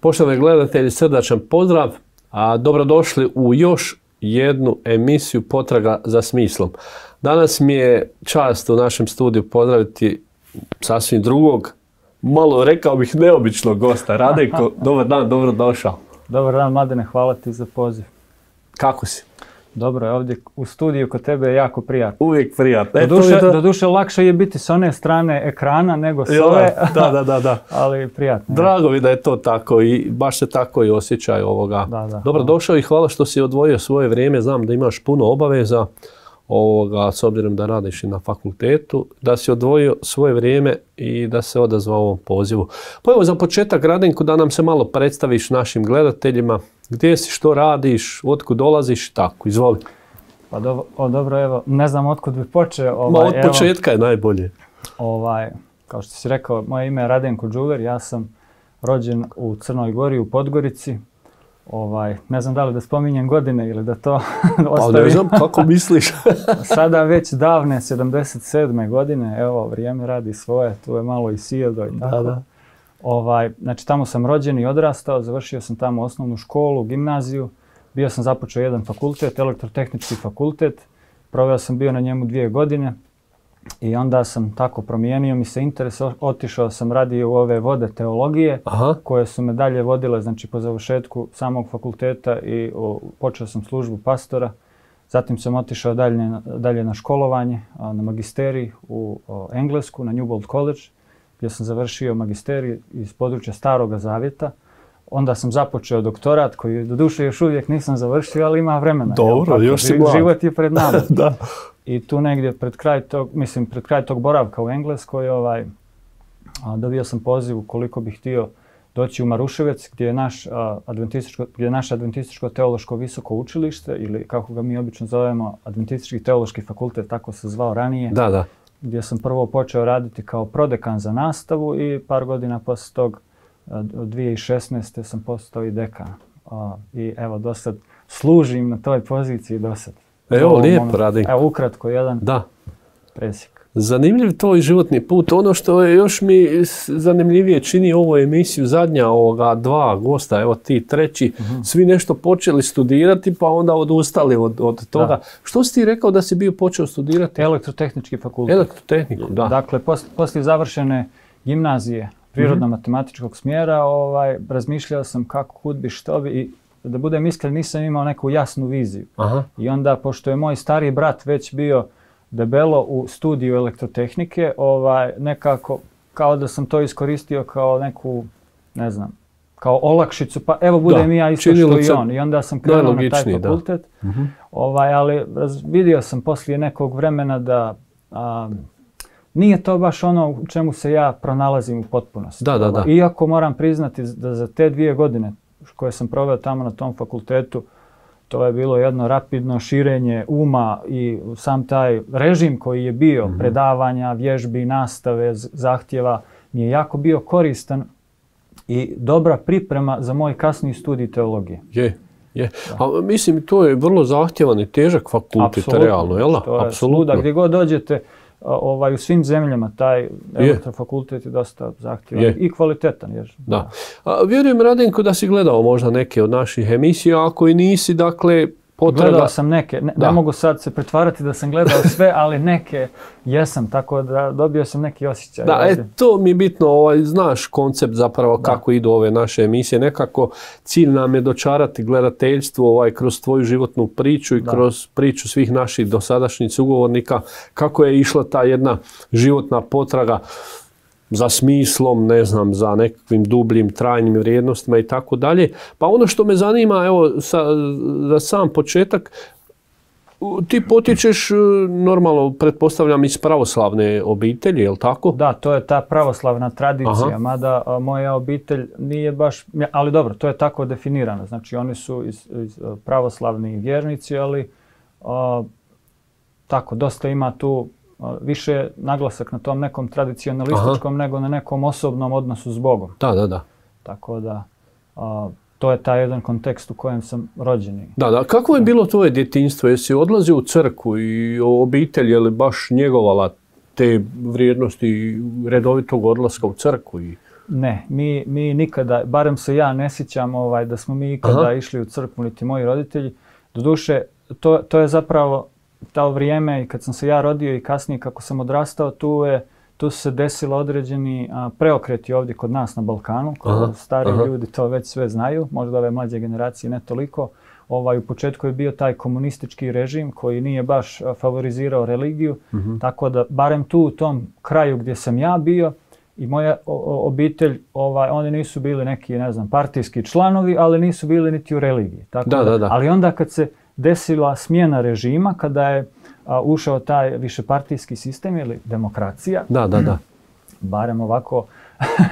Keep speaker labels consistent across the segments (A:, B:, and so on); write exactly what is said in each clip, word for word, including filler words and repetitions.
A: Poštovani gledatelji, srdačan pozdrav, a dobrodošli u još jednu emisiju Potraga za smislom. Danas mi je čast u našem studiju pozdraviti sasvim drugog, malo rekao bih neobičnog gosta. Radenko, dobar dan, dobro došao.
B: Dobar dan, Mladene, hvala ti za poziv.
A: Kako si?
B: Dobro je, ovdje u studiju kod tebe je jako prijatno.
A: Uvijek prijatno.
B: Doduše, to... doduše lakše je biti s one strane ekrana nego s ove,
A: da, da, da, da.
B: ali prijatno.
A: Drago mi da je to tako i baš se tako i osjećaj ovoga.
B: Da, da,
A: dobro došao i hvala što si odvojio svoje vrijeme. Znam da imaš puno obaveza, ovoga, s obzirom da radiš i na fakultetu, da si odvojio svoje vrijeme i da se odazvao ovom pozivu. Pa evo za početak, Radenko, da nam se malo predstaviš našim gledateljima. Gdje si, što radiš, otkud dolaziš, tako, izvoli.
B: Pa do, o, dobro, evo, ne znam otkud bi počeo. Ovaj,
A: Ma od
B: evo,
A: početka je najbolje.
B: Ovaj, kao što si rekao, moje ime je Radenko Đuver, ja sam rođen u Crnoj Gori, u Podgorici. Ovaj, ne znam da li da spominjem godine ili da to ostavim.
A: Pa ne znam kako misliš.
B: Sada već davne sedamdeset sedme godine, evo, vrijeme radi svoje, tu je malo i sijedo i tako.
A: Da, da.
B: Ovaj, znači tamo sam rođen i odrastao, završio sam tamo osnovnu školu, gimnaziju, bio sam započeo jedan fakultet, elektrotehnički fakultet, proveo sam bio na njemu dvije godine i onda sam tako promijenio mi se interes, otišao sam radio u ove vode teologije. Aha. Koje su me dalje vodile, znači po završetku samog fakulteta i o, počeo sam službu pastora. Zatim sam otišao dalje, dalje na školovanje, a, na magisterij u o, Englesku, na Newbold College, gdje sam završio magisterij iz područja Staroga Zavjeta. Onda sam započeo doktorat koji doduše još uvijek nisam završio, ali ima vremena.
A: Dobro, jel, još si mlad.
B: Život je pred nama.
A: Da.
B: I tu negdje pred kraj tog, mislim, pred kraj tog boravka u Engleskoj, ovaj, a, dobio sam poziv ukoliko bih htio doći u Maruševec, gdje je, naš, a, adventističko, gdje je naše adventističko teološko visoko učilište, ili kako ga mi obično zovemo, adventistički teološki fakultet, tako se zvao ranije.
A: Da, da.
B: Gdje sam prvo počeo raditi kao prodekan za nastavu i par godina poslije tog, od dvije tisuće šesnaeste. sam postao i dekan. A, I evo, do sad služim na toj poziciji do sad.
A: Evo, lijepo radim.
B: Evo, ukratko jedan
A: da.
B: presjek.
A: Zanimljiv tvoj životni put. Ono što je još mi zanimljivije čini ovu emisiju, zadnja ovoga dva gosta, evo ti treći, uh-huh. svi nešto počeli studirati pa onda odustali od, od toga. Da. Što si ti rekao da si bio počeo studirati?
B: Elektrotehnički fakultet.
A: Elektrotehniku, da.
B: Dakle, pos, poslije završene gimnazije prirodno-matematičkog smjera, ovaj, razmišljao sam kako, kud bi, što bi i da budem iskren, nisam imao neku jasnu viziju. Aha. I onda, pošto je moj stariji brat već bio debelo u studiju elektrotehnike, ovaj, nekako kao da sam to iskoristio kao neku, ne znam, kao olakšicu, pa evo budem i ja isto što i on. I onda sam krenuo na taj fakultet, uh-huh. ovaj, ali vidio sam poslije nekog vremena da a, nije to baš ono u čemu se ja pronalazim u potpunosti.
A: Da, da, da.
B: Iako moram priznati da za te dvije godine koje sam proveo tamo na tom fakultetu, to je bilo jedno rapidno širenje uma i sam taj režim koji je bio, mm-hmm. predavanja, vježbi, nastave, zahtjeva, mi je jako bio koristan i dobra priprema za moj kasniji studij teologije.
A: Je, je. A mislim, to je vrlo zahtjevan i težak fakultet, apsolutno, realno, jel da?
B: To je svuda, gdje god dođete, ovaj, u svim zemljama taj elektrofakultet je dosta zahtjevan je. I kvalitetan. Jer,
A: da. Da. A, vjerujem, Radenko, da si gledao možda neke od naših emisija, ako i nisi, dakle, potraga...
B: Gledao sam neke, ne, ne mogu sad se pretvarati da sam gledao sve, ali neke jesam, tako da dobio sam neki osjećaj.
A: Da, e, to mi je bitno, ovaj, znaš koncept zapravo da. Kako idu ove naše emisije. Nekako cilj nam je dočarati gledateljstvo ovaj, kroz tvoju životnu priču i da. Kroz priču svih naših dosadašnjih sugovornika, kako je išla ta jedna životna potraga za smislom, ne znam, za nekakvim dubljim, trajnim vrijednostima i tako dalje. Pa ono što me zanima, evo, sa, za sam početak, ti potječeš normalno, pretpostavljam, iz pravoslavne obitelji, je li tako?
B: Da, to je ta pravoslavna tradicija, aha. Mada a, moja obitelj nije baš, ali dobro, to je tako definirano. Znači, oni su iz, iz pravoslavni vjernici, ali a, tako, dosta ima tu više naglasak na tom nekom tradicionalističkom aha. nego na nekom osobnom odnosu s Bogom.
A: Da, da, da.
B: Tako da, a, to je taj jedan kontekst u kojem sam rođen.
A: Da, da. Kako je bilo tvoje djetinjstvo? Jesi odlazio u crkvu i obitelj je li baš njegovala te vrijednosti redovitog odlaska u crkvu? I...
B: Ne, mi, mi nikada, barem se ja ne sjećam ovaj, da smo mi ikada Aha. išli u crkvu, niti moji roditelji. Doduše, to, to je zapravo to vrijeme i kad sam se ja rodio i kasnije kako sam odrastao, tu, je, tu su se desilo određeni a, preokreti ovdje kod nas na Balkanu. Aha. Stari Aha. ljudi to već sve znaju, možda ove mlađe generacije ne toliko. Ovaj, u početku je bio taj komunistički režim koji nije baš favorizirao religiju, uh-huh. tako da barem tu u tom kraju gdje sam ja bio i moja o, obitelj, ovaj, oni nisu bili neki, ne znam, partijski članovi, ali nisu bili niti u religiji. Tako
A: da, da, da.
B: Ali onda kad se desila smjena režima, kada je a, ušao taj višepartijski sistem ili demokracija,
A: da, da, da.
B: barem ovako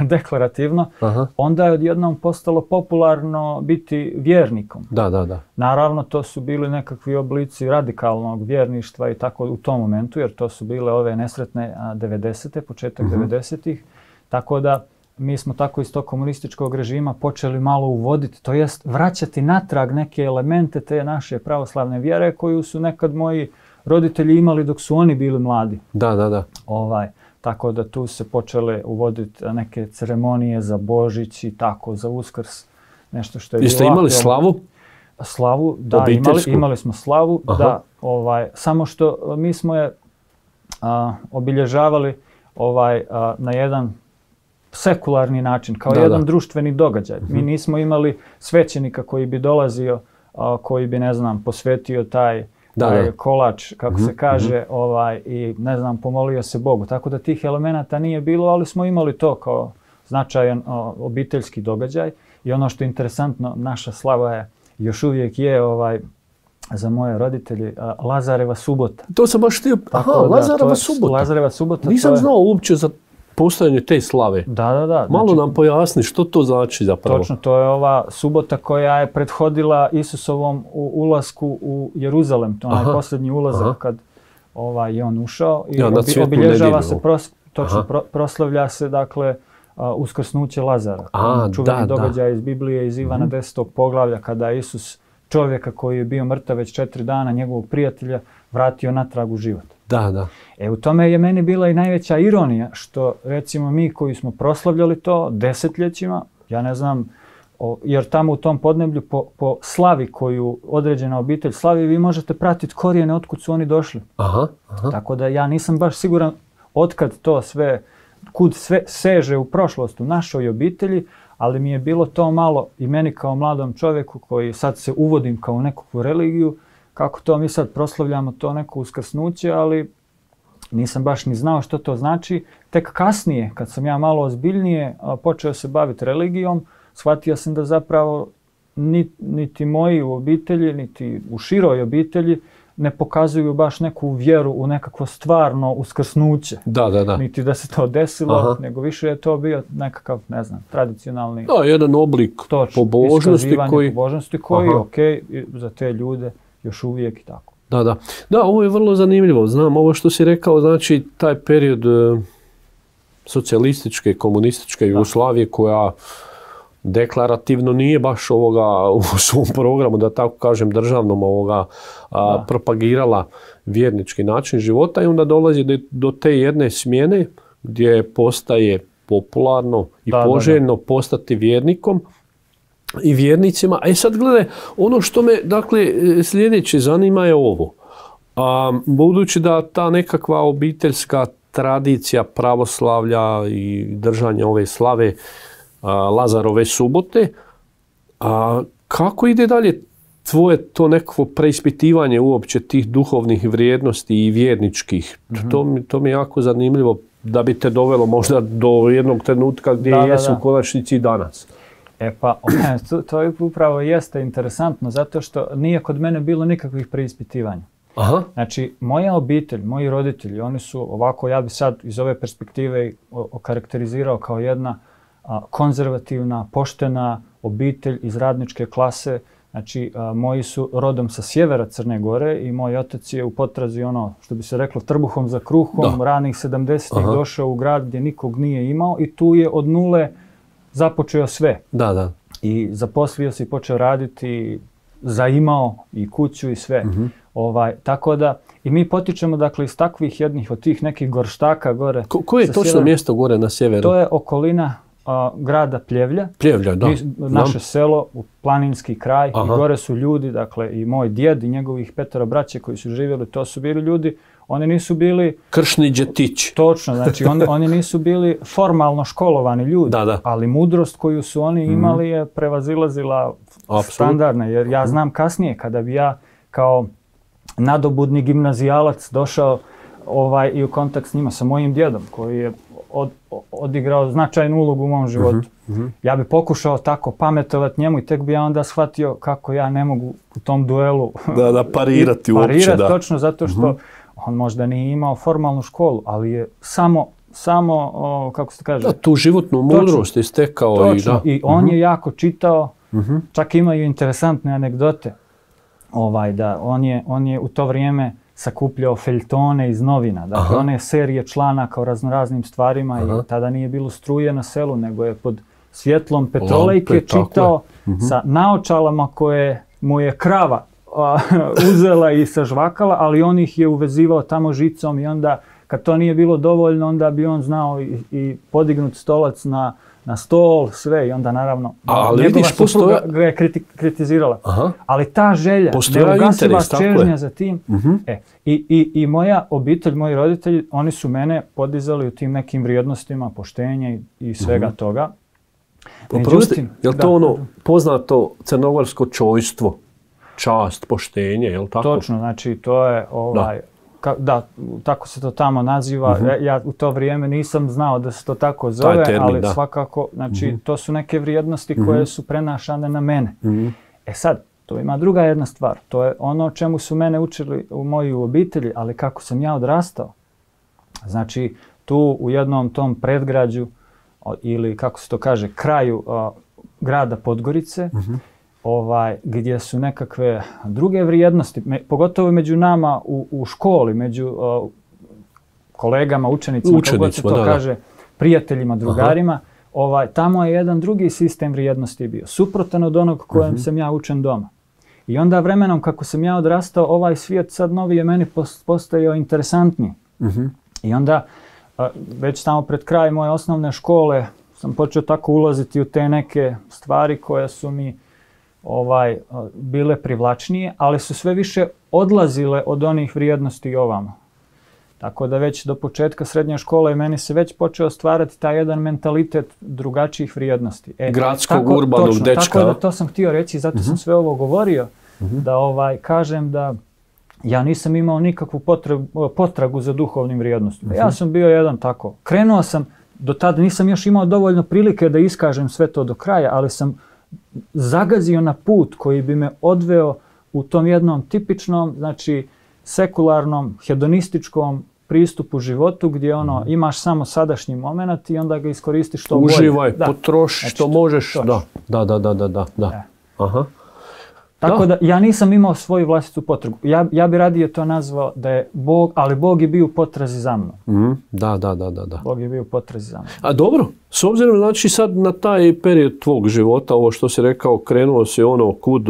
B: deklarativno,
A: Aha.
B: onda je odjednom postalo popularno biti vjernikom.
A: Da, da, da.
B: Naravno, to su bili nekakvi oblici radikalnog vjerništva i tako u tom momentu, jer to su bile ove nesretne devedesete, početak uh-huh. devedesetih. Tako da mi smo tako iz tog komunističkog režima počeli malo uvoditi, to jest vraćati natrag neke elemente te naše pravoslavne vjere koju su nekad moji roditelji imali dok su oni bili mladi.
A: Da, da, da.
B: Ovaj, tako da tu se počele uvoditi neke ceremonije za Božić i tako, za Uskrs, nešto što je bilo...
A: Jeste imali slavu?
B: Slavu, da, imali, imali smo slavu, Aha. da, ovaj, samo što mi smo je a, obilježavali ovaj, a, na jedan sekularni način, kao da, jedan da. društveni događaj. Uh-huh. Mi nismo imali svećenika koji bi dolazio, a, koji bi, ne znam, posvetio taj... Da, taj kolač, kako mm-hmm. se kaže, ovaj, i ne znam, pomolio se Bogu. Tako da tih elemenata nije bilo, ali smo imali to kao značajan o, obiteljski događaj. I ono što je interesantno, naša slava je, još uvijek je ovaj, za moje roditelje, a, Lazareva subota.
A: To sam baš htio, aha, da, Lazareva subota.
B: Lazareva subota.
A: Nisam
B: to je...
A: znao uopće za postojanje te slave.
B: Da, da, da.
A: Malo znači, nam pojasni što to znači zapravo.
B: Točno, to je ova subota koja je prethodila Isusovom u ulasku u Jeruzalem. To je onaj posljednji ulazak Aha. kad ovaj, je on ušao. I
A: ja,
B: obi, obilježava se, pros, točno, pro, proslavlja se, dakle, uh, uskrsnuće Lazara.
A: A,
B: čuveni
A: da,
B: događaj
A: da.
B: iz Biblije, iz Ivana
A: mm-hmm.
B: desetog poglavlja, kada je Isus čovjeka koji je bio mrtav već četiri dana, njegovog prijatelja, vratio natrag u život.
A: Da, da.
B: E, u tome je meni bila i najveća ironija, što recimo mi koji smo proslavljali to desetljećima, ja ne znam, o, jer tamo u tom podneblju po, po slavi koju određena obitelj slavi, vi možete pratiti korijene otkud su oni došli.
A: Aha, aha.
B: Tako da ja nisam baš siguran otkad to sve, kud sve seže u prošlost u našoj obitelji, ali mi je bilo to malo i meni kao mladom čovjeku koji sad se uvodim kao u nekakvu religiju, kako to mi sad proslavljamo to neko uskrsnuće, ali nisam baš ni znao što to znači. Tek kasnije, kad sam ja malo ozbiljnije počeo se baviti religijom, shvatio sam da zapravo niti, niti moji u obitelji, niti u široj obitelji ne pokazuju baš neku vjeru u nekakvo stvarno uskrsnuće.
A: Da, da, da.
B: Niti da se to desilo, Aha. nego više je to bio nekakav, ne znam, tradicionalni...
A: Da, jedan oblik
B: točno,
A: pobožnosti koji...
B: pobožnosti koji, ok, za te ljude još uvijek i tako.
A: Da, da. Da, ovo je vrlo zanimljivo. Znam, ovo što si rekao, znači taj period e, socijalističke, komunističke Jugoslavije koja deklarativno nije baš ovoga u svom programu, da tako kažem, državnom ovoga a, propagirala vjernički način života i onda dolazi do, do te jedne smjene gdje postaje popularno i da, poželjno da, da. postati vjernikom i vjernicima. E sad gledaj, ono što me dakle sljedeće zanima je ovo. A, budući da ta nekakva obiteljska tradicija pravoslavlja i držanja ove slave a, Lazarove subote, a kako ide dalje tvoje to nekakvo preispitivanje uopće tih duhovnih vrijednosti i vjerničkih? Mm-hmm. To, mi, to mi je jako zanimljivo da bi te dovelo možda do jednog trenutka gdje da, jesu da, da. u konačnici i danas.
B: E pa, to, to upravo jeste interesantno, zato što nije kod mene bilo nikakvih preispitivanja. Aha. Znači, moja obitelj, moji roditelji, oni su ovako, ja bi sad iz ove perspektive okarakterizirao kao jedna a, konzervativna, poštena obitelj iz radničke klase. Znači, a, moji su rodom sa sjevera Crne Gore i moj otac je u potrazi, ono, što bi se reklo, trbuhom za kruhom, da. ranih sedamdesetih došao u grad gdje nikog nije imao i tu je od nule započeo sve.
A: Da, da.
B: I zaposlio se i počeo raditi, zaimao i kuću i sve. Mm-hmm. Ovaj, tako da, i mi potičemo dakle iz takvih jednih od tih nekih gorštaka gore.
A: Ko, koje je točno sjevera, mjesto gore na sjeveru?
B: To je okolina a, grada Pljevlja.
A: Pljevlja, da.
B: Mi, naše selo, u planinski kraj,
A: Aha.
B: i gore su ljudi, dakle i moj djed i njegovih petero braće koji su živjeli, to su bili ljudi, oni nisu bili...
A: Kršni džetići.
B: Točno, znači on, oni nisu bili formalno školovani ljudi,
A: da, da.
B: ali mudrost koju su oni imali mm. je prevazilazila standardne, jer ja znam kasnije kada bi ja kao nadobudni gimnazijalac došao ovaj, i u kontakt s njima, sa mojim djedom koji je od, odigrao značajnu ulogu u mom životu. Mm-hmm. Ja bi pokušao tako pametovati njemu i tek bi ja onda shvatio kako ja ne mogu u tom duelu
A: da, da parirati uopće.
B: Parirati
A: da.
B: točno zato što mm-hmm. on možda nije imao formalnu školu, ali je samo, samo o, kako se kaže...
A: Da, tu životnu mudrost je stekao.
B: Točno,
A: i, da.
B: i on
A: mm-hmm.
B: je jako čitao,
A: mm-hmm.
B: čak imaju interesantne anegdote. Ovaj, da, on je, on je u to vrijeme sakupljao feljtone iz novina, dakle Aha. one serije članaka o raznoraznim stvarima. Aha. I tada nije bilo struje na selu, nego je pod svjetlom petrolejke Lampe, čitao mm-hmm. sa naočalama koje mu je krava a, uzela i sažvakala, ali on ih je uvezivao tamo žicom i onda kad to nije bilo dovoljno, onda bi on znao i, i podignut stolac na, na stol, sve i onda naravno
A: ali
B: njegova
A: vidiš,
B: supruga
A: postoja...
B: ga je kriti, kritizirala.
A: Aha.
B: Ali ta želja, neugasiva čežnja za tim.
A: Mm-hmm.
B: E, i, i, I moja obitelj, moji roditelji, oni su mene podizali u tim nekim vrijednostima, poštenja i, i svega mm-hmm. toga.
A: Međutim, je li to da, ono poznato crnogorsko čojstvo, čast, poštenje, je li tako?
B: Točno, znači to je ovaj... Da. Ka, da, tako se to tamo naziva. Uh-huh. ja, ja u to vrijeme nisam znao da se to tako zove, termin, ali da. svakako, znači, uh-huh. to su neke vrijednosti uh-huh. koje su prenašane na mene. Uh-huh. E sad, to ima druga jedna stvar. To je ono o čemu su mene učili u mojoj obitelji, ali kako sam ja odrastao. Znači, tu u jednom tom predgrađu, ili kako se to kaže, kraju o, grada Podgorice, uh-huh. Ovaj, gdje su nekakve druge vrijednosti, me, pogotovo među nama u, u školi, među uh, kolegama, učenicima, kako se to da, kaže, da. prijateljima, drugarima, ovaj, tamo je jedan drugi sistem vrijednosti bio, suprotan od onog kojem uh-huh. sam ja učen doma. I onda vremenom kako sam ja odrastao, ovaj svijet sad novi je meni postajao interesantniji. Uh-huh. I onda, uh, već tamo pred kraj moje osnovne škole, sam počeo tako ulaziti u te neke stvari koje su mi ovaj, bile privlačnije, ali su sve više odlazile od onih vrijednosti ovamo. Tako da već do početka srednje škole meni se već počeo stvarati taj jedan mentalitet drugačijih vrijednosti. E,
A: Gradskog,
B: tako,
A: urbanog
B: točno,
A: dečka.
B: Tako da to sam htio reći, zato uh-huh. sam sve ovo govorio, uh-huh. da ovaj, kažem da ja nisam imao nikakvu potragu, potragu za duhovnim vrijednostima. Uh-huh. Ja sam bio jedan tako. Krenuo sam, do tada nisam još imao dovoljno prilike da iskažem sve to do kraja, ali sam zagazio na put koji bi me odveo u tom jednom tipičnom, znači sekularnom, hedonističkom pristupu životu gdje ono imaš samo sadašnji moment i onda ga iskoristiš što bolje.
A: Uživaj, potroši znači, što možeš. Da, da, da, da, da, da.
B: E.
A: Aha.
B: Tako
A: da.
B: da ja nisam imao svoju vlastitu potrebu. Ja, ja bi radije to nazvao da je Bog, ali Bog je bio u potrazi za mnom.
A: Mm, da, da, da, da.
B: Bog je bio u potrazi za mnom.
A: A dobro, s obzirom znači sad na taj period tvog života, ovo što si rekao, krenuo se ono kud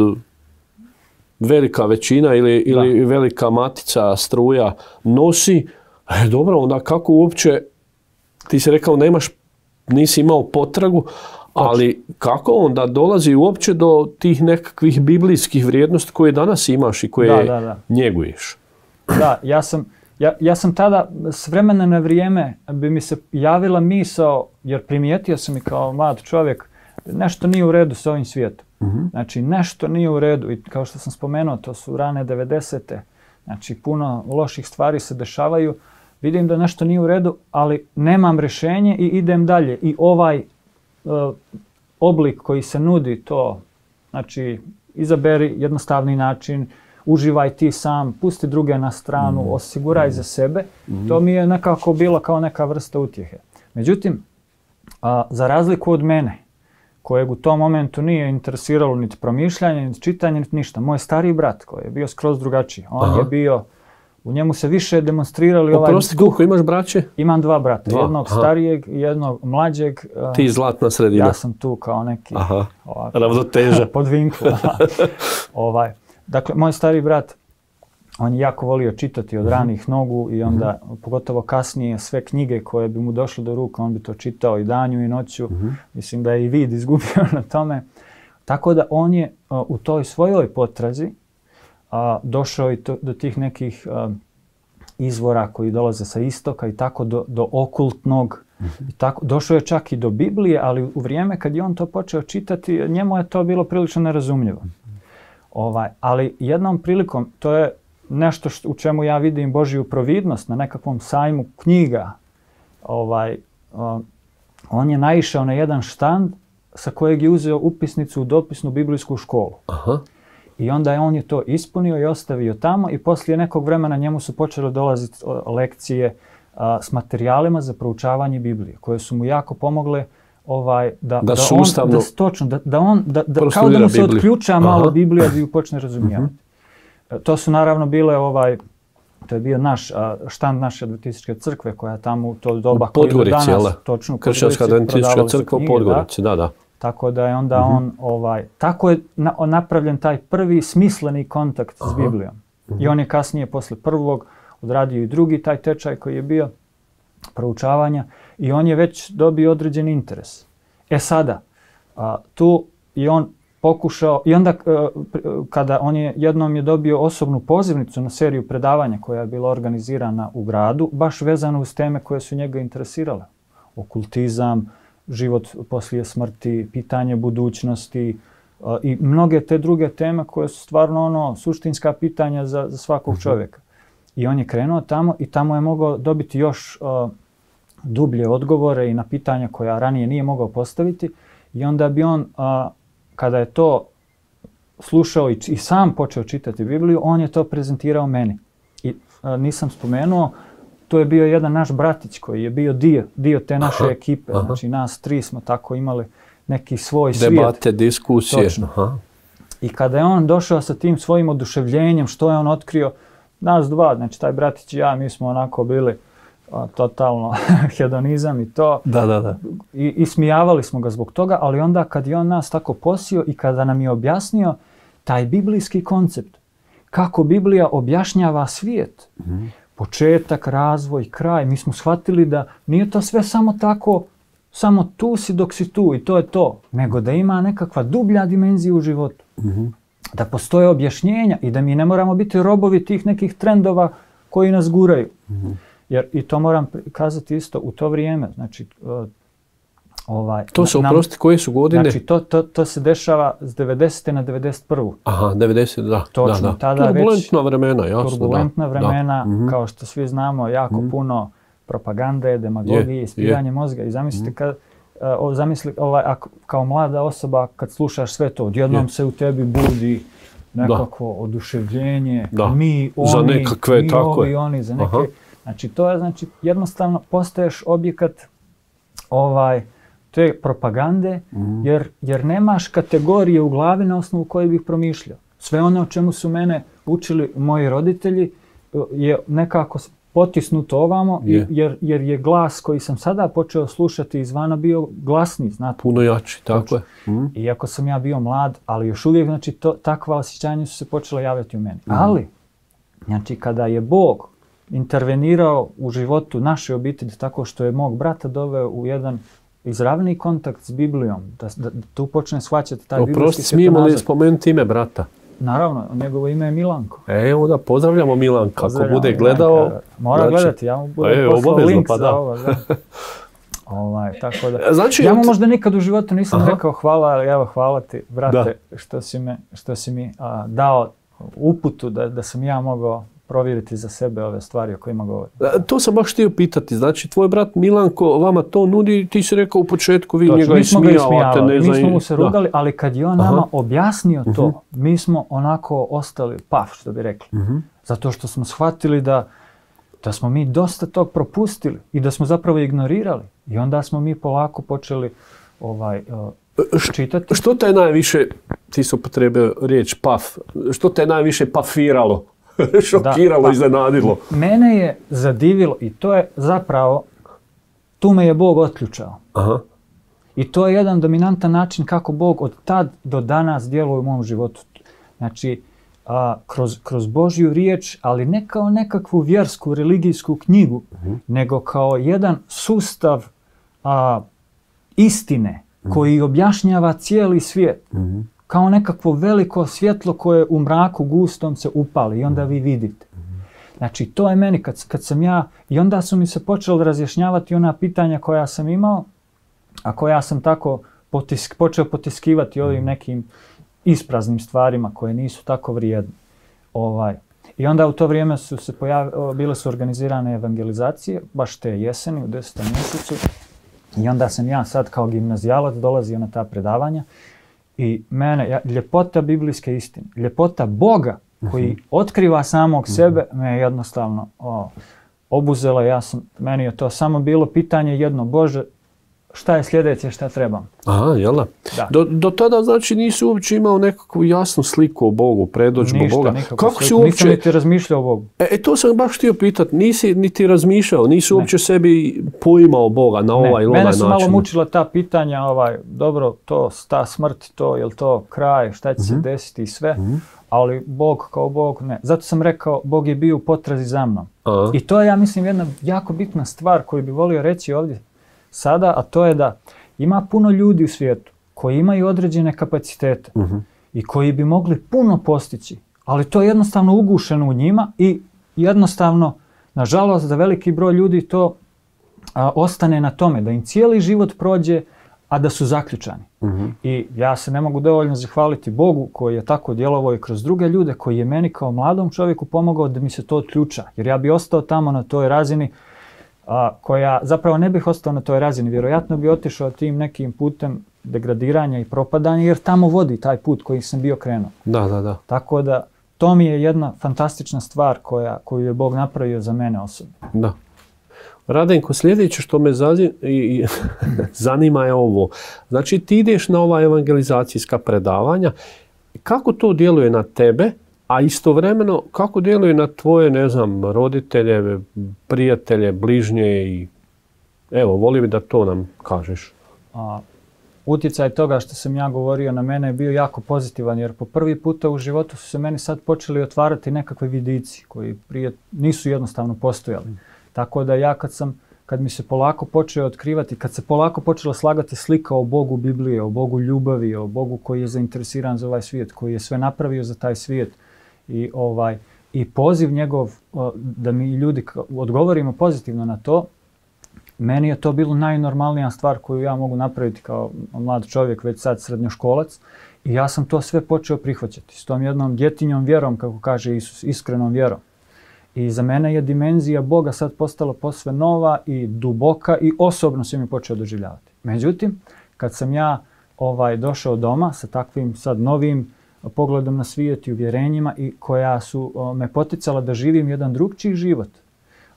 A: velika većina ili, ili velika matica struja nosi, e, dobro, onda kako uopće, ti si rekao nemaš, nisi imao potragu, ali kako onda dolazi uopće do tih nekakvih biblijskih vrijednosti koje danas imaš i koje
B: da, da, da.
A: njeguješ?
B: Da, ja sam, ja, ja sam tada s vremena na vrijeme bi mi se javila misao, jer primijetio sam i kao mlad čovjek, nešto nije u redu s ovim svijetom. Uh-huh. Znači nešto nije u redu i kao što sam spomenuo, to su rane devedesete. Znači puno loših stvari se dešavaju. Vidim da nešto nije u redu, ali nemam rješenje i idem dalje. I ovaj Uh, oblik koji se nudi to, znači izaberi jednostavni način, uživaj ti sam, pusti druge na stranu, mm. osiguraj mm. za sebe, mm. to mi je nekako bilo kao neka vrsta utjehe. Međutim, a, za razliku od mene, kojeg u tom momentu nije interesiralo niti promišljanje, niti čitanje, niti ništa, moj stariji brat koji je bio skroz drugačiji, on Aha. je bio, u njemu se više demonstrirali ovaj
A: Oprosti, duh. Koliko imaš braće?
B: Imam dva brata, dva. jednog Aha. starijeg i jednog mlađeg.
A: Ti zlatna sredina.
B: Ja sam tu kao neki
A: ravnoteža.
B: Pod vinku. ovaj. Dakle, moj stariji brat, on je jako volio čitati od ranih nogu i onda, uh-huh. pogotovo kasnije, sve knjige koje bi mu došle do ruka, on bi to čitao i danju i noću. Uh-huh. Mislim da je i vid izgubio na tome. Tako da on je uh, u toj svojoj potrazi uh, došao i to, do tih nekih uh, izvora koji dolaze sa istoka i tako do, do okultnog. Uh-huh. I tako, došao je čak i do Biblije, ali u vrijeme kad je on to počeo čitati, njemu je to bilo prilično nerazumljivo. Uh-huh. Ovaj, ali jednom prilikom, to je nešto što, u čemu ja vidim Božju providnost na nekakvom sajmu knjiga. Ovaj, uh, on je naišao na jedan štand sa kojeg je uzeo upisnicu u dopisnu biblijsku školu. Aha. I onda je on je to ispunio i ostavio tamo i poslije nekog vremena njemu su počele dolaziti lekcije a, s materijalima za proučavanje Biblije, koje su mu jako pomogle ovaj, da,
A: da,
B: da
A: sustavno
B: on, da, točno, da, da on, da, da, kao da mu se Bibliju. Otključa malo Aha. Biblija da ju počne razumijevati. Uh-huh. To su naravno bile ovaj, to je bio naš štand naše adventističke crkve koja je tamo u to doba koji do danas
A: jel?
B: Točno u
A: Kršćanska adventistička crkva u Podgorici, da, da.
B: Tako da je onda uh-huh. on ovaj tako je na, napravljen taj prvi smisleni kontakt Aha. s Biblijom. Uh-huh. I on je kasnije posle prvog odradio i drugi taj tečaj koji je bio proučavanja i on je već dobio određen interes. E sada a, tu i on pokušao i onda kada on je jednom je dobio osobnu pozivnicu na seriju predavanja koja je bila organizirana u gradu, baš vezano uz teme koje su njega interesirale. Okultizam, život poslije smrti, pitanje budućnosti uh, i mnoge te druge teme koje su stvarno ono suštinska pitanja za, za svakog uh-huh. čovjeka. I on je krenuo tamo i tamo je mogao dobiti još uh, dublje odgovore i na pitanja koja ranije nije mogao postaviti. I onda bi on, uh, kada je to slušao i, i sam počeo čitati Bibliju, on je to prezentirao meni. I uh, nisam spomenuo, to je bio jedan naš bratić koji je bio dio, dio te naše aha, ekipe. Aha. Znači nas tri smo tako imali neki svoj
A: Debate,
B: svijet.
A: Debate, diskusije.
B: Aha. I kada je on došao sa tim svojim oduševljenjem, što je on otkrio, nas dva, znači taj bratić i ja, mi smo onako bili a, totalno hedonizam i to.
A: Da, da, da.
B: I, I smijavali smo ga zbog toga, ali onda kad je on nas tako posio i kada nam je objasnio taj biblijski koncept, kako Biblija objašnjava svijet, mm-hmm. početak, razvoj, kraj. Mi smo shvatili da nije to sve samo tako, samo tu si dok si tu i to je to. Nego da ima nekakva dublja dimenzija u životu. Mm-hmm. Da postoje objašnjenja i da mi ne moramo biti robovi tih nekih trendova koji nas guraju. Mm-hmm. Jer i to moram kazati isto u to vrijeme. Znači, uh, ovaj,
A: to se oprosti, koje su godine?
B: Znači, to, to, to se dešava s devedesete na devedeset prvu.
A: Aha, devedeset, da.
B: Točno,
A: da, da.
B: tada
A: turbulentna
B: već,
A: vremena, jasno.
B: Turbulentna
A: da,
B: vremena,
A: da. Mm-hmm.
B: kao što svi znamo, jako mm-hmm. puno propagande, demagogije, ispiranje mozga. I zamislite, kad, uh, zamisli, ovaj, ako, kao mlada osoba, kad slušaš sve to, odjednom je. se u tebi budi nekako da. oduševljenje, da. mi, oni,
A: za nekakve,
B: mi,
A: tako
B: ovi,
A: je.
B: oni, za neke.
A: Aha.
B: Znači, to je, znači, jednostavno postaješ objekat ovaj, te propagande, mm. jer, jer nemaš kategorije u glavi na osnovu koje bih promišljao. Sve ono o čemu su mene učili moji roditelji je nekako potisnuto ovamo, je. jer, jer je glas koji sam sada počeo slušati izvana bio glasniji, znate.
A: Puno jači, tako je. Mm.
B: Iako sam ja bio mlad, ali još uvijek, znači, to, takva osjećanja su se počela javljati u meni. Mm. Ali, znači, kada je Bog intervenirao u životu naše obitelji tako što je mog brata doveo u jedan izravni kontakt s Biblijom, da, da, da tu počne shvaćati taj biblijski svjetonazor.
A: Smijemo li spomenuti ime brata?
B: Naravno, njegovo ime je Milanko.
A: Evo da, pozdravljamo Milanka. Ako bude gledao...
B: Milanka. Mora znači, gledati, ja mu budem e, poslao link pa za ovo. Da. ovaj, tako da. Znači, ja mu možda nikad u životu nisam aha. rekao hvala, ali evo hvala ti, brate, što si, me, što si mi a, dao uputu da, da sam ja mogao provjeriti za sebe ove stvari o kojima govorim.
A: To sam baš htio pitati. Znači, tvoj brat Milanko vama to nudi, ti si rekao u početku, vi
B: Točno,
A: njega ismijavate.
B: Ne mi smo mu se rugali, da. ali kad je on Aha. nama objasnio to, uh-huh. mi smo onako ostali paf, što bi rekli. Uh-huh. Zato što smo shvatili da, da smo mi dosta tog propustili i da smo zapravo ignorirali. I onda smo mi polako počeli ovaj, uh, čitati.
A: Što te je najviše, ti su upotrebio riječ paf, što te je najviše pafiralo? Šokiralo, da, pa, iznenadilo.
B: Mene je zadivilo i to je zapravo, tu me je Bog otključao. Aha. I to je jedan dominantan način kako Bog od tad do danas djeluje u mom životu. Znači, a, kroz, kroz Božju riječ, ali ne kao nekakvu vjersku, religijsku knjigu, mm-hmm. nego kao jedan sustav a, istine mm-hmm. koji objašnjava cijeli svijet. Mm-hmm. Kao nekakvo veliko svjetlo koje u mraku gustom se upali i onda vi vidite. Mm-hmm. Znači, to je meni kad, kad sam ja, i onda su mi se počeli razjašnjavati ona pitanja koja sam imao, a koja sam tako potisk, počeo potiskivati ovim nekim ispraznim stvarima koje nisu tako vrijedne. Ovaj. I onda u to vrijeme su se pojavile, bile su organizirane evangelizacije, baš te jeseni u desetom mjesecu. I onda sam ja sad kao gimnazijalac dolazio na ta predavanja. I mene, ja, ljepota biblijske istine, ljepota Boga koji uh-huh. otkriva samog uh-huh. sebe, me je jednostavno o, obuzela. Ja sam, meni je to samo bilo pitanje jedno, Bože, šta je sljedeće, šta trebam?
A: Aha, jel da? Do, do tada znači nisi uopće imao nekakvu jasnu sliku o Bogu, predodžbu Boga.
B: Ništa, kako si uopće... Nisam niti razmišljao o Bogu.
A: E, e to sam baš htio pitati, nisi niti razmišljao, nisi ne. uopće sebi poimao Boga na ovaj ili onaj način.
B: Mene su malo mučila ta pitanja, ovaj, dobro, to, ta smrt, to, je li to kraj, šta će uh-huh. se desiti i sve, uh-huh. ali Bog kao Bog, ne. Zato sam rekao, Bog je bio u potrazi za mnom. Uh-huh. I to je, ja mislim, jedna jako bitna stvar koju bi volio reći ovdje sada, a to je da ima puno ljudi u svijetu koji imaju određene kapacitete uh-huh. i koji bi mogli puno postići, ali to je jednostavno ugušeno u njima i jednostavno, nažalost, za veliki broj ljudi to a, ostane na tome, da im cijeli život prođe, a da su zaključani. Uh-huh. I ja se ne mogu dovoljno zahvaliti Bogu koji je tako djelovao i kroz druge ljude, koji je meni kao mladom čovjeku pomogao da mi se to otključa. Jer ja bi ostao tamo na toj razini a, koja zapravo ne bih ostao na toj razini. Vjerojatno bi otišao tim nekim putem degradiranja i propadanja, jer tamo vodi taj put koji sam bio krenuo.
A: Da, da, da.
B: Tako da to mi je jedna fantastična stvar koja, koju je Bog napravio za mene osobno.
A: Da. Radenko, sljedeće što me zazi, i, zanima je ovo. Znači ti ideš na ova evangelizacijska predavanja. Kako to djeluje na tebe, a istovremeno kako djeluje na tvoje, ne znam, roditelje, prijatelje, bližnje i evo, volio bi da to nam kažeš.
B: A, utjecaj toga što sam ja govorio na mene je bio jako pozitivan, jer po prvi puta u životu su se meni sad počeli otvarati nekakve vidici koji prije nisu jednostavno postojali. Tako da ja kad sam, kad mi se polako počeo otkrivati, kad se polako počela slagati slika o Bogu Biblije, o Bogu ljubavi, o Bogu koji je zainteresiran za ovaj svijet, koji je sve napravio za taj svijet i ovaj i poziv njegov da mi ljudi odgovorimo pozitivno na to, meni je to bilo najnormalnija stvar koju ja mogu napraviti kao mlad čovjek, već sad srednjoškolac. I ja sam to sve počeo prihvaćati s tom jednom djetinjom vjerom, kako kaže Isus, iskrenom vjerom. I za mene je dimenzija Boga sad postala posve nova i duboka i osobno se mi počeo doživljavati. Međutim, kad sam ja ovaj, došao doma sa takvim sad novim pogledom na svijet i uvjerenjima i koja su o, me poticala da živim jedan drugčiji život,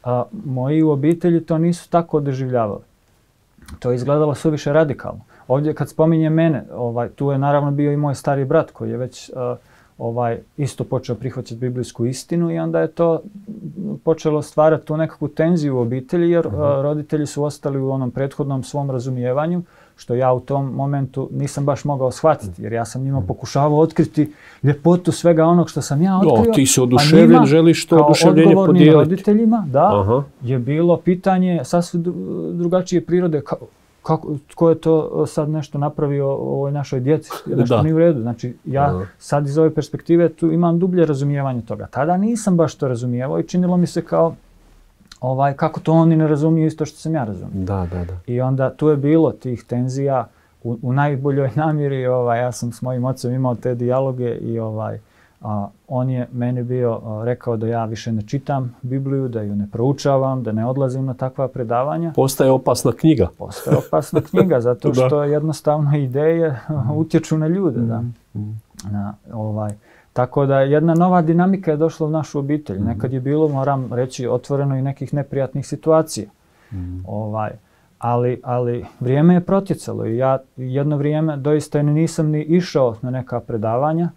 B: a, moji u obitelji to nisu tako doživljavali. To je izgledalo suviše radikalno. Ovdje kad spominje mene, ovaj, tu je naravno bio i moj stari brat koji je već a, ovaj, isto počeo prihvaćati biblijsku istinu i onda je to počelo stvarati tu nekakvu tenziju u obitelji, jer uh, roditelji su ostali u onom prethodnom svom razumijevanju, što ja u tom momentu nisam baš mogao shvatiti, jer ja sam njima pokušavao otkriti ljepotu svega onog što sam ja otkrio.
A: O, ti si oduševljen, želiš to oduševljenje podijeliti.
B: Kao odgovornim roditeljima, da, Aha. je bilo pitanje sasvim drugačije prirode. Ka- Kako, tko je to sad nešto napravio o ovoj našoj djeci, nešto da. Nije u redu. Znači, ja Aha. sad iz ove perspektive tu imam dublje razumijevanje toga. Tada nisam baš to razumijevao i činilo mi se kao ovaj, kako to oni ne razumiju isto što sam ja razumio.
A: Da, da, da.
B: I onda tu je bilo tih tenzija u, u najboljoj namjeri. Ovaj, ja sam s mojim ocem imao te dijaloge i ovaj, a, on je meni bio a, rekao da ja više ne čitam Bibliju, da ju ne proučavam, da ne odlazim na takva predavanja.
A: Postaje opasna knjiga.
B: Postaje opasna knjiga, zato što jednostavno ideje utječu na ljude. Da. Na, ovaj, tako da jedna nova dinamika je došla u našu obitelj. Nekad je bilo, moram reći, otvoreno i nekih neprijatnih situacija. Mm. Ovaj, ali, ali vrijeme je protjecalo i ja jedno vrijeme doista nisam ni išao na neka predavanja.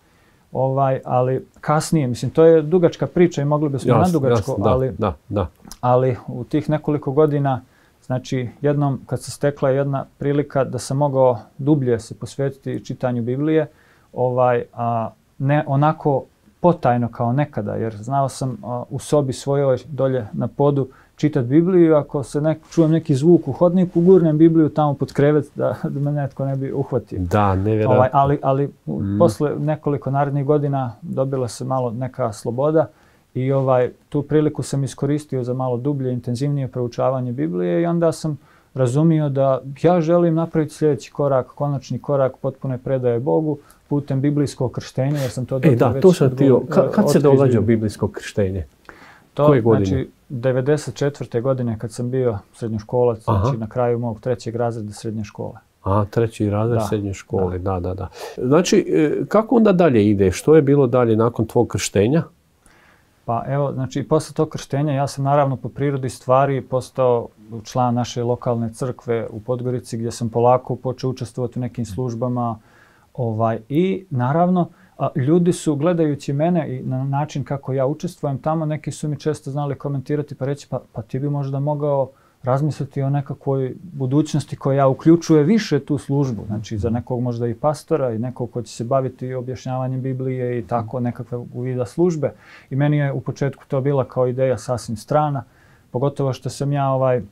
B: Ovaj, ali kasnije, mislim, to je dugačka priča i mogli bismo na dugačko, ali,
A: da, da.
B: ali u tih nekoliko godina, znači jednom kad se stekla jedna prilika da sam mogao dublje se posvetiti čitanju Biblije, ovaj, a ne onako potajno kao nekada, jer znao sam a, u sobi svojoj dolje na podu čitati Bibliju, ako se nek, čujem neki zvuk u hodniku, gurnem Bibliju tamo pod krevet da, da me netko ne bi uhvatio.
A: Da, nevjerojatno.
B: Ovaj, ali ali mm. posle nekoliko narednih godina dobila se malo neka sloboda i ovaj, tu priliku sam iskoristio za malo dublje, intenzivnije proučavanje Biblije i onda sam razumio da ja želim napraviti sljedeći korak, konačni korak potpune predaje Bogu putem biblijskog krštenja, jer sam to
A: e, da,
B: već
A: to sam htio. Kad, kad se
B: otkrio.
A: događa biblijsko krštenje?
B: To,
A: koje godine?
B: Znači, devedeset četvrte godine kad sam bio srednjoškolac, znači na kraju mog trećeg razreda srednje škole.
A: A, treći razred
B: da,
A: srednje škole, da. da, da, da. Znači, kako onda dalje ide? Što je bilo dalje nakon tvog krštenja?
B: Pa evo, znači, posle tog krštenja ja sam naravno po prirodi stvari postao član naše lokalne crkve u Podgorici gdje sam polako počeo učestvovati u nekim službama. Ovaj, I naravno, a, ljudi su gledajući mene i na način kako ja učestvujem tamo, neki su mi često znali komentirati pa reći pa, pa ti bi možda mogao razmisliti o nekakvoj budućnosti koja uključuje više tu službu. Znači za nekog možda i pastora i nekog ko će se baviti objašnjavanjem Biblije i tako nekakve vida službe. I meni je u početku to bila kao ideja sasvim strana, pogotovo što sam ja ovaj,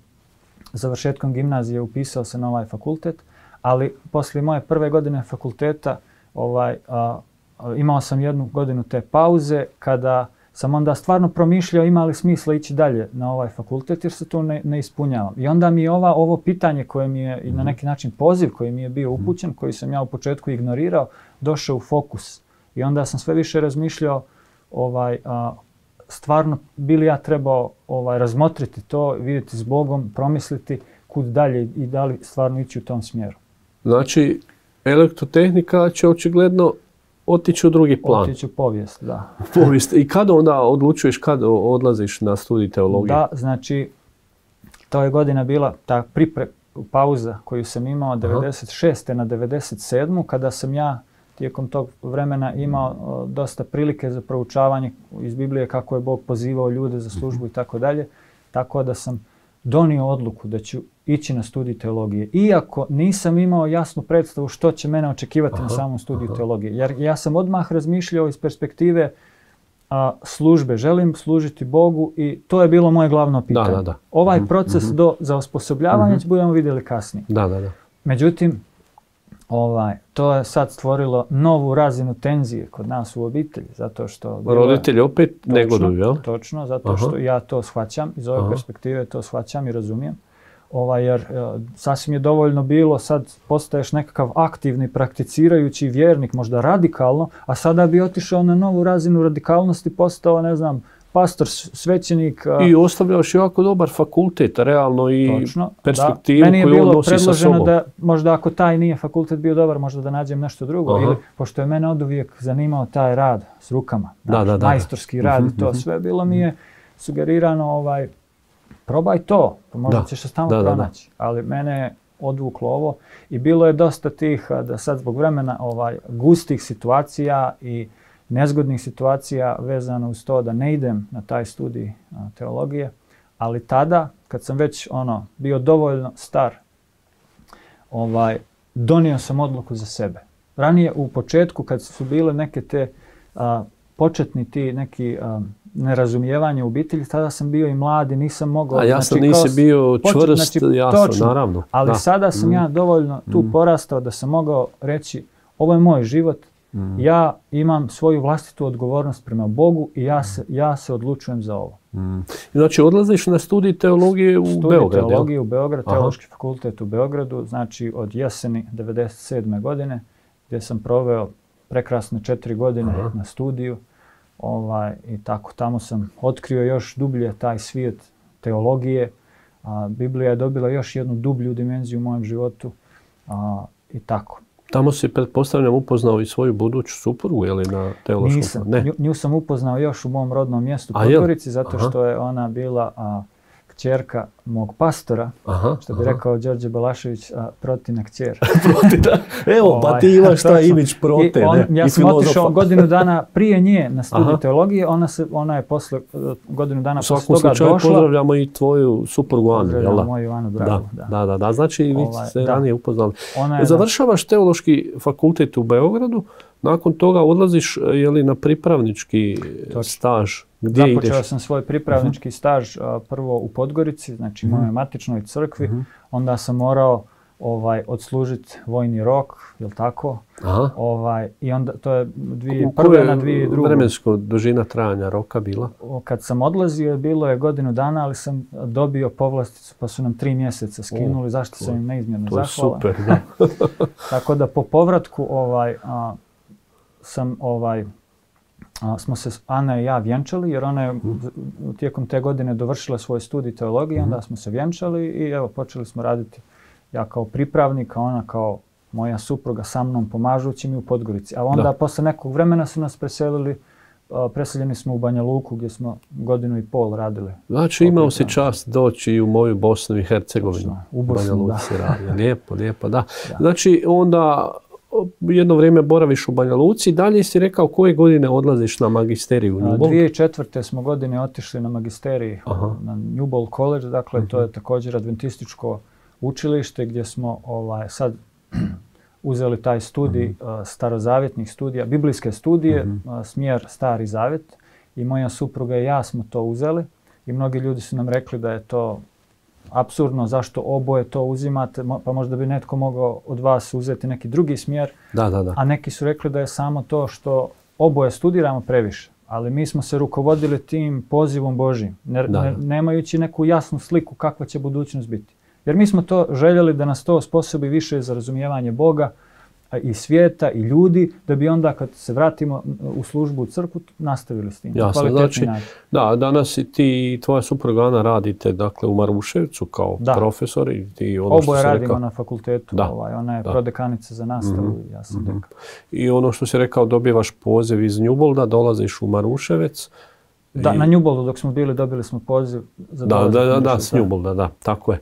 B: završetkom gimnazije upisao se na ovaj fakultet, ali poslije moje prve godine fakulteta ovaj, a, a, imao sam jednu godinu te pauze kada sam onda stvarno promišljao ima li smisla ići dalje na ovaj fakultet jer se tu ne, ne ispunjavam. I onda mi je ova, ovo pitanje koje mi je i na neki način poziv koji mi je bio upućen, koji sam ja u početku ignorirao, došao u fokus. I onda sam sve više razmišljao ovaj, a, stvarno bi li ja trebao ovaj, razmotriti to, vidjeti s Bogom, promisliti kud dalje i da li stvarno ići u tom smjeru.
A: Znači, elektrotehnika će očigledno otići u drugi plan.
B: Otići u povijest, da.
A: Povijest. I kada onda odlučuješ kad odlaziš na studij teologije?
B: Da, znači, to je godina bila ta pripre, pauza koju sam imao devedeset šeste na devedeset sedmu kada sam ja tijekom tog vremena imao o, dosta prilike za proučavanje iz Biblije kako je Bog pozivao ljude za službu i tako dalje. Tako da sam donio odluku da ću ići na studij teologije. Iako nisam imao jasnu predstavu što će mene očekivati aha, na samom studiju aha. teologije. Jer ja sam odmah razmišljao iz perspektive a, službe. Želim služiti Bogu i to je bilo moje glavno pitanje.
A: Da, da, da.
B: Ovaj
A: mm-hmm.
B: proces do, za osposobljavanje mm-hmm. budemo vidjeli kasnije.
A: Da, da, da.
B: Međutim, ovaj, to je sad stvorilo novu razinu tenzije kod nas u obitelji. Zato što
A: roditelji opet
B: točno,
A: negoduju, jel?
B: Točno, zato aha. što ja to shvaćam. Iz ove aha. perspektive to shvaćam i razumijem. Ovaj, jer uh, sasvim je dovoljno bilo, sad postaješ nekakav aktivni, prakticirajući vjernik, možda radikalno, a sada bi otišao na novu razinu radikalnosti, postao, ne znam, pastor, svećenik. Uh,
A: I ostavljaš jako dobar fakultet, realno i točno, perspektivu
B: da.
A: koju on nosi sa sobom. Meni je bilo predloženo
B: da možda ako taj nije fakultet bio dobar, možda da nađem nešto drugo. Aha. Ili, pošto je mene oduvijek zanimao taj rad s rukama, da, znači, da, da, majstorski da. rad i to sve, bilo mi je sugerirano ovaj, probaj to, pa možda da. ćeš se tamo da, pronaći. Da, da. Ali mene je odvuklo ovo i bilo je dosta tih, da sad zbog vremena, ovaj, gustih situacija i nezgodnih situacija vezano uz to da ne idem na taj studij a, teologije. Ali tada, kad sam već ono, bio dovoljno star, ovaj, donio sam odluku za sebe. Ranije u početku, kad su bile neke te a, početni ti neki a, nerazumijevanje u obitelji, tada sam bio i mlad i nisam mogao...
A: A jasno, znači, nisi bio čvrst, znači, jasno,
B: točno, naravno. Ali da. sada sam mm. ja dovoljno tu mm. porastao da sam mogao reći ovo je moj život, mm. ja imam svoju vlastitu odgovornost prema Bogu i ja se, ja se odlučujem za ovo.
A: Mm. Znači odlaziš na studij teologije u
B: studij
A: Beogradu?
B: Studij teologije u Beogradu, Teološki fakultet u Beogradu, znači od jeseni devedeset sedme godine, gdje sam proveo prekrasne četiri godine aha. na studiju. Ovaj, i tako, tamo sam otkrio još dublje taj svijet teologije. A, Biblija je dobila još jednu dublju dimenziju u mojem životu a, i tako.
A: Tamo si, pretpostavljam, upoznao i svoju buduću suprugu, je li na teološkom?
B: Nisam. Ne. Nju, nju sam upoznao još u mom rodnom mjestu Podgorici, zato aha. što je ona bila a, kćerka mog pastora, aha, što bi aha. rekao Đorđe Balašević, a, protina kćer.
A: Protina. Evo, pa ti imaš taj imidž prote,
B: on,
A: ne?
B: Ja
A: I
B: sam
A: filozofa.
B: otišao godinu dana prije nje na studiju teologije, ona, se, ona je posle, godinu dana posle toga došla. U svakom slučaju
A: pozdravljamo i tvoju suprugu Anu, jel da?
B: Moju Anu, dragu,
A: da. Da, da, da, znači vi ovaj, ste ranije upoznali.
B: Je,
A: Završavaš teološki fakultet u Beogradu, nakon toga odlaziš je li, na pripravnički Točno. staž. Gdje
B: Započeo
A: ideš?
B: sam svoj pripravnički uh-huh. staž a, prvo u Podgorici, znači u uh-huh. mojoj matičnoj crkvi. Uh-huh. Onda sam morao ovaj, odslužiti vojni rok, jel tako?
A: Aha.
B: Ovaj, I onda to je dvije, prve na dvije druge.
A: Vremensko dužina trajanja roka bila?
B: Kad sam odlazio bilo je godinu dana, ali sam dobio povlasticu pa su nam tri mjeseca skinuli, o, zašto sam im neizmjerno zahvalan.
A: To je super, da.
B: Tako da po povratku ovaj, a, sam ovaj, a, smo se Ana i ja vjenčali, jer ona je mm. tijekom te godine dovršila svoj studij teologije, mm. onda smo se vjenčali i evo počeli smo raditi. Ja kao pripravnik, a ona kao moja supruga sa mnom pomažući mi u Podgorici. A onda da. posle nekog vremena su nas preselili, preseljeni smo u Banja Luku gdje smo godinu i pol radili.
A: Znači imao si čast doći u moju Bosnu i Hercegovinu.
B: U Bosnu, da.
A: Lijepo, lijepo, da. da. Znači onda jedno vrijeme boraviš u Banja Luci, dalje si rekao koje godine odlaziš na magisteriju u Njubol?
B: dvije tisuće četvrte smo godine otišli na magisterij Aha. na Njubol College, dakle uh-huh. to je također adventističko učilište gdje smo ovaj, sad uzeli taj studij uh-huh. uh, starozavjetnih studija, biblijske studije, uh-huh. uh, smjer Stari Zavjet i moja supruga i ja smo to uzeli i mnogi ljudi su nam rekli da je to apsurdno, zašto oboje to uzimate, pa možda bi netko mogao od vas uzeti neki drugi smjer,
A: da, da, da.
B: a neki su rekli da je samo to što oboje studiramo previše. Ali mi smo se rukovodili tim pozivom Božjim, ne, da, da. Ne, nemajući neku jasnu sliku kakva će budućnost biti. Jer mi smo to željeli da nas to osposobi više za razumijevanje Boga i svijeta i ljudi, da bi onda kad se vratimo u službu u crkvu nastavili s tim.
A: Jasno, znači, da, danas i ti i tvoja supruga Ana radite dakle, u Maruševcu kao
B: da.
A: profesor. I ti ono
B: Oboje
A: što
B: radimo
A: rekao,
B: na fakultetu,
A: da.
B: ovaj, ona je
A: da.
B: prodekanica za nastavu, mm-hmm. ja sam mm-hmm. dekan.
A: I ono što si rekao, dobivaš poziv iz Njubolda, dolaziš u Maruševec.
B: Da, I... na Njuboldu dok smo bili, dobili smo poziv za
A: da, da, da, da, s Njubolda, da, tako je.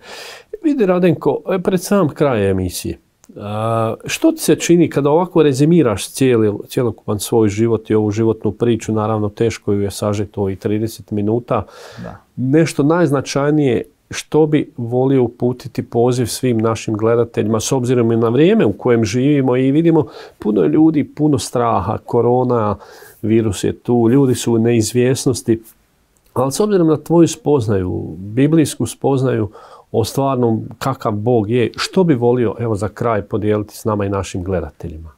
A: Vidi Radenko, pred sam kraj emisije, a, što ti se čini kada ovako rezimiraš cijeli, cijelokupan svoj život i ovu životnu priču, naravno teško ju je sažeti ovih trideset minuta,
B: da.
A: nešto najznačajnije što bi volio uputiti poziv svim našim gledateljima s obzirom i na vrijeme u kojem živimo i vidimo puno ljudi, puno straha, korona, virus je tu, ljudi su u neizvjesnosti, ali s obzirom na tvoju spoznaju, biblijsku spoznaju o stvarnom kakav Bog je, što bi volio evo za kraj podijeliti s nama i našim gledateljima?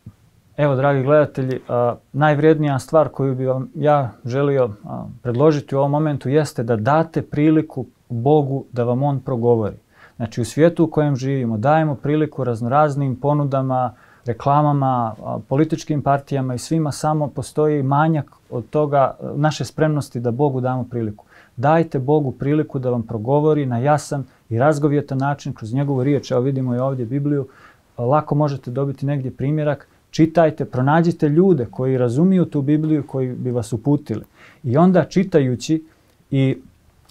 B: Evo, dragi gledatelji, a, najvrijednija stvar koju bi vam ja želio a, predložiti u ovom momentu jeste da date priliku Bogu da vam On progovori. Znači, u svijetu u kojem živimo dajemo priliku raznoraznim ponudama, reklamama, a, političkim partijama i svima, samo postoji manjak od toga naše spremnosti da Bogu damo priliku. Dajte Bogu priliku da vam progovori na jasan i razgovjetan način kroz njegovu riječ. Evo vidimo i ovdje Bibliju. Lako možete dobiti negdje primjerak. Čitajte, pronađite ljude koji razumiju tu Bibliju, koji bi vas uputili. I onda čitajući i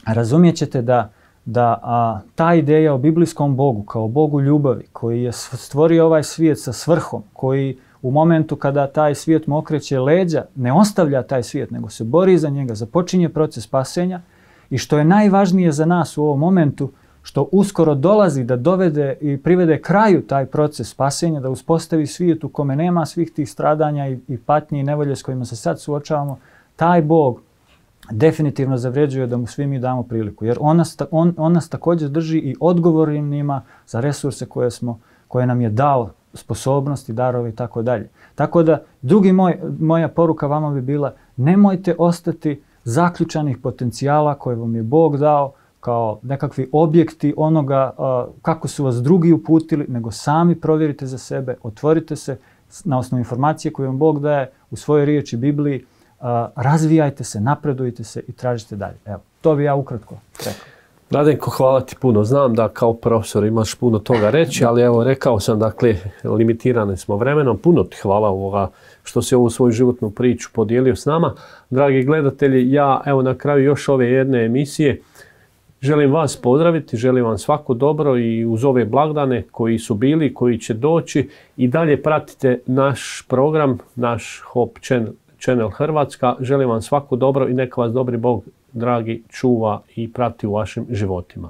B: razumjet ćete da, da a, ta ideja o biblijskom Bogu, kao Bogu ljubavi, koji je stvorio ovaj svijet sa svrhom, koji u momentu kada taj svijet mu okreće leđa, ne ostavlja taj svijet, nego se bori za njega, započinje proces spasenja i što je najvažnije za nas u ovom momentu, što uskoro dolazi da dovede i privede kraju taj proces spasenja, da uspostavi svijet u kome nema svih tih stradanja i, i patnje i nevolje s kojima se sad suočavamo, taj Bog definitivno zavređuje da mu svi mi damo priliku. Jer on nas, on, on nas također drži i odgovornima za resurse koje, smo, koje nam je dao, sposobnosti, darove i tako dalje. Tako da, drugi moj, moja poruka vama bi bila, nemojte ostati zaključanih potencijala koje vam je Bog dao kao nekakvi objekti onoga uh, kako su vas drugi uputili, nego sami provjerite za sebe, otvorite se na osnovu informacije koje vam Bog daje u svojoj riječi Bibliji, uh, razvijajte se, napredujte se i tražite dalje. Evo, to bi ja ukratko rekao.
A: Radenko, hvala ti puno. Znam da kao profesor imaš puno toga reći, ali evo rekao sam, dakle, limitirani smo vremenom. Puno ti hvala ovoga što si ovu svoju životnu priču podijelio s nama. Dragi gledatelji, ja evo na kraju još ove jedne emisije želim vas pozdraviti, želim vam svako dobro i uz ove blagdane koji su bili, koji će doći i dalje pratite naš program, naš Hope Channel Hrvatska. Želim vam svako dobro i neka vas dobri Bog, dragi, čuva i prati u vašim životima.